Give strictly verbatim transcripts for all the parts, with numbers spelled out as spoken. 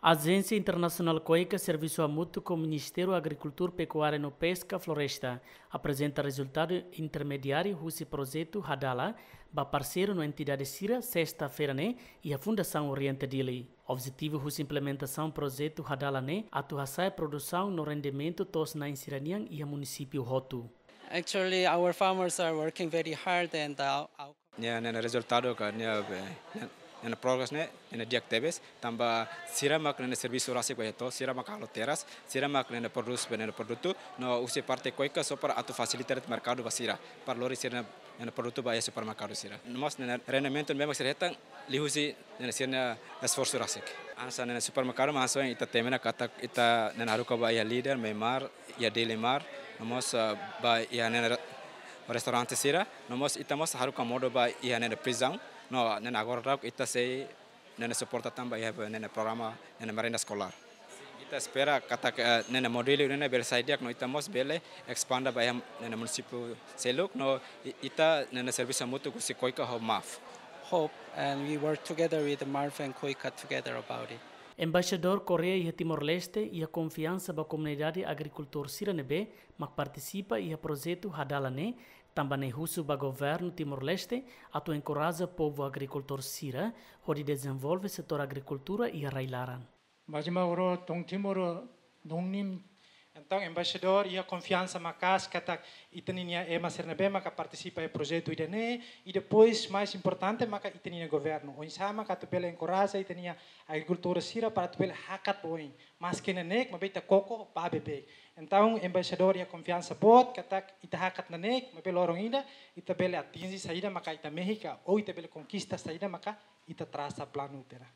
Ajénsia Internasionál KOICA servisu hamutuk ho Ministériu Agrikultura, Pekuária no Peska Floresta aprezenta rezultadu intermediáriu husi projetu Hadala ba parseiru no entidade sira, sesta-feira ne'e, iha Fundasaun Oriente Dili. Objetivu husi implementasaun projetu Hadala ne'e atu hasa'e produsaun no rendimentu to'os-na'in sira-nian iha munisípiu hotu. Actually, our farmers are working very hard and, uh, our Nia, nia rezultadu ka nia, eh, nia, nia progress ne'e, nia di'ak tebes, tanba sira mak nia servisu rasik ba iha to'os, sira mak halo terras, sira mak nia prodús ba nia produtu, no husi parte KOICA só para atu fasilita merkadu ba sira, para lori sira-nia produtu ba iha supermerkadu sira. No mós nia rendimentu ne'ebé mak sira hetan, liuhusi nia sira-nia esforsu rasik. Hanesan nia supermerkadu mak hanesan ita temi ona katak ita nia haruka ba iha Líder, Meimar, iha Dili Mart, no mós, eh, ba iha nia re-, restaurante sira, no mós ita mós haruka modo ba iha nia prizaun, no nia agora daudaun ita sei nia suporta tan ba iha nia programa nia merenda eskolár. Ita espera katak, eh, nia modelu ne'e bele sai di'ak no ita mós bele espanda ba iha nia munisípiu seluk, no i-, ita nia servisu hamutuk husi KOICA ho MAF. Hope, and we work together with the MAF and KOICA together about it. Embaixadór Koreia iha Timor-Leste iha konfiansa ba komunidade agrikultór sira ne'ebé mak partisipa iha projetu Hadala ne'e, tanba ne'e husu ba governu Timor-Leste atu enkoraja povu agrikultór sira hodi dezenvolve setór agrikultura iha rai-laran. Baji ma oro tong timoro dong nim. Entaun, embaixadór iha konfiansa maka'as katak ita-nia ema sira ne'ebé maka partisipa iha projetu ida-ne'e, i depois mais importante maka ita-nia governu. Oinsá maka atu bele enkoraja ita-nia agrikultór sira para atu bele hakat ba oin. Maske neineik, maibé ita koko ba beibeik. Entaun, embaixadór iha konfiansa boot katak ita hakat neineik, maibé loron ida, ita bele atinje saida maka ita mehi ka, ou ita bele konkista saida maka ita trasa planu tiha ona.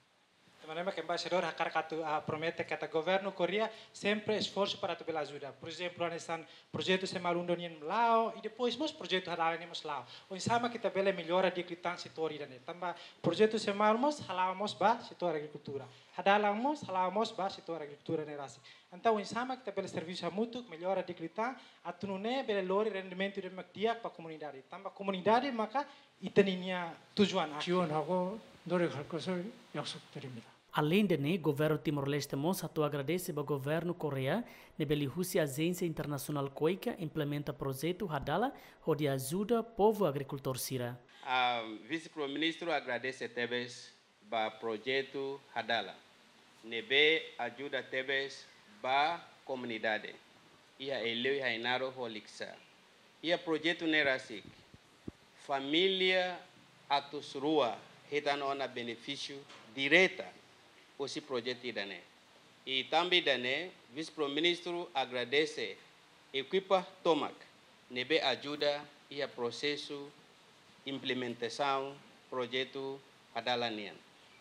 Tanba ne'e mak embaixadór hakarak atu, ah, promete katak governu Koreia sempre esforsu para atu bele ajuda. Por ezemplu, hanesan projetu Semalundo nian la'o, i depois mós projetu Hadala nian mós la'o. Oinsá mak ita bele mellora di'ak liután setór ida-ne'e. Tanba projetu Semalundo mós hala'o mós ba setór agrikultura. Hadala mós hala'o mós ba setór agrikultura ne'e rasik. Entaun, oinsá mak ita bele servisu hamutuk, mellora di'ak liután, atu nune'e bele lori rendimentu ida mak di'ak ba komunidade. Tanba komunidade maka ita-nia tujuan akhir. 지원하고 노력할 것을 약속드립니다. Aleinde ne'e, governu Timor-Leste mós hato'o agradese ba governu Koreia, ne'ebé liuhusi ajénsia internasionál KOICA implementa projetu Hadala hodi ajuda povu agrikultór sira. Ah, Vise-Primeiru-Ministru agradese tebes ba projetu Hadala, ne'ebé ajuda tebes ba komunidade iha Aileu, iha Ainaro ho Likisá. Iha projetu ne'e rasik, família atus rua hetan ona benefísiu direta husi projetu ida-ne'e. I tanba ida-ne'e, Vise-Primeiru-Ministru agradese ekipa tomak ne'ebé ajuda iha prosesu implementasaun projetu Hadala nian.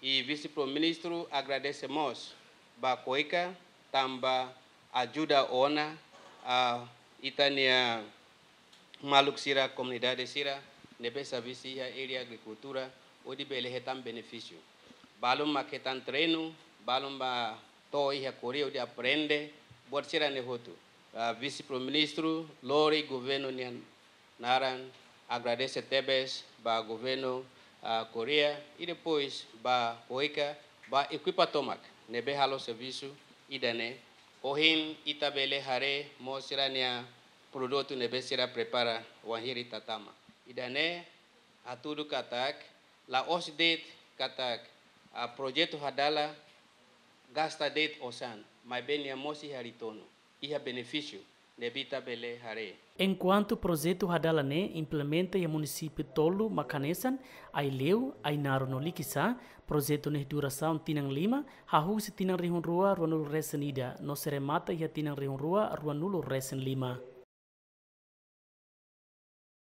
I Vise-Primeiru-Ministru agradese mós ba KOICA tanba ajuda ona, ah, ita-nia maluk sira, komunidade sira ne'ebé servisu iha área agrikultura hodi bele hetan benefísiu. Balun mak hetan treinu, balun mak to'o iha Koreia hodi aprende buat sira-ne'e hotu. Ah, Vise-Primeiru-Ministru lori governu nian naran agradese tebes ba governu, ah, Koreia, i depois ba KOICA, ba ekipa tomak ne'ebé halo servisu ida-ne'e. Ohin ita bele haree mós sira-nia produtu ne'ebé sira prepara wainhira ita tama. Ida-ne'e hatudu katak la'ós de'it katak, ah, projetu Hadala gasta de'it osan, maibé nia mós iha retornu, iha benefísiu ne'ebé ita bele haree. Enkuantu projetu Hadala ne'e implementa iha munisípiu tolu mak hanesan Aileu, Ainaro no Likisá, projetu ne'e durasaun tinan lima, hahú husi tinan rihun rua ruanulu resin ida, no sei remata iha tinan rihun rua ruanulu resin lima.